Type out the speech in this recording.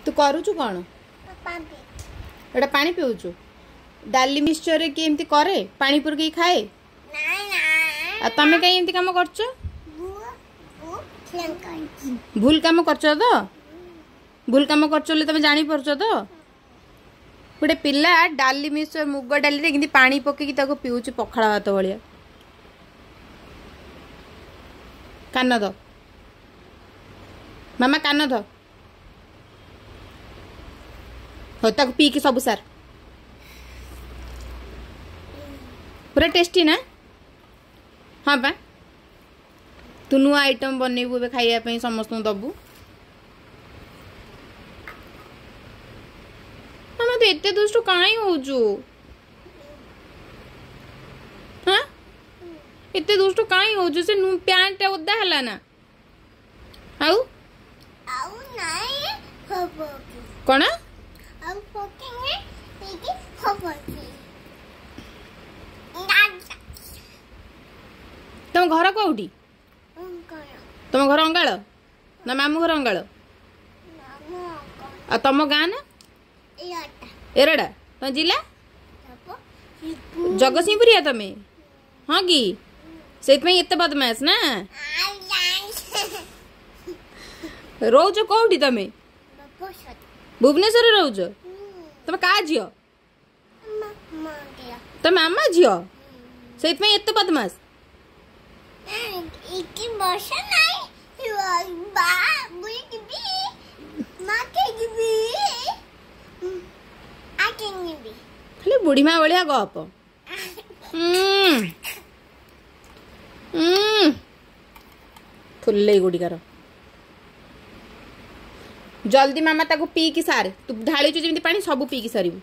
ତୁ କରୁଛୁ କ'ଣ? ଏଇଟା ପାଣି ପିଉଛୁ? ଡାଲି ମିକ୍ସଚରରେ କିଏ ଏମିତି କରେ, ପାଣି ପକେଇକି ଖାଏ? ଆଉ ତମେ କାହିଁ ଏମିତି କାମ କରୁଛ? ଭୁଲ କାମ କରୁଛ ତ? ଭୁଲ କାମ କରୁଛ ବୋଲି ତମେ ଜାଣିପାରୁଛ ତ? ଗୋଟେ ପିଲା ଡାଲି ମିକ୍ସଚର ମୁଗ ଡାଲିରେ କେମିତି ପାଣି ପକେଇକି ତାକୁ ପିଉଛି ପଖାଳ ଭାତ ଭଳିଆ। କାନ ଧ ମାମା, କାନ ଧ। ହଉ ତାକୁ ପିଇକି ସବୁ ସାର୍। ପୁରା ଟେଷ୍ଟି ନା? ହଁ ପା, ତୁ ନୂଆ ଆଇଟମ୍ ବନେଇବୁ ଏବେ ଖାଇବା ପାଇଁ, ସମସ୍ତଙ୍କୁ ଦବୁ। ମାମା ତୁ ଏତେ ଦୁଷ୍ଟୁ କାହିଁ ହଉଛୁ? ହଁ, ଏତେ ଦୁଷ୍ଟୁ କାହିଁ ହଉଛୁ? ସେ ପ୍ୟାଣ୍ଟଟା ଓଦା ହେଲା ନା? ଆଉ କ'ଣ ତମ ଘର କୋଉଠି? ତମ ଘର ଅଙ୍ଗାଳ ନା ମାମୁଁ ଘର ଅଙ୍ଗାଳ? ଆଉ ତମ ଗାଁ ନା? ଏରଡା। ତମ ଜିଲ୍ଲା ଜଗତସିଂହପୁରିଆ ତମେ? ହଁ କି? ସେଇଥିପାଇଁ ଏତେ ବଦମାସ ନା? ରହୁଛ କୋଉଠି ତମେ? ଭୁବନେଶ୍ୱରରେ ରହୁଛ? ତମେ କାହା ଝିଅ? ତମେ ମାମା ଝିଅ, ସେଇଥିପାଇଁ ଏତେ ବଦମାସ। ଖାଲି ବୁଢୀମା ଭଳିଆ ଗପ। ଫୁଲେଇ ଗୁଡ଼ିକାର। ଜଲ୍ଦି ମାମା ତାକୁ ପିଇକି ସାରେ। ତୁ ଢାଳିଛୁ ଯେମିତି ପାଣି, ସବୁ ପିଇକି ସାରିବୁ।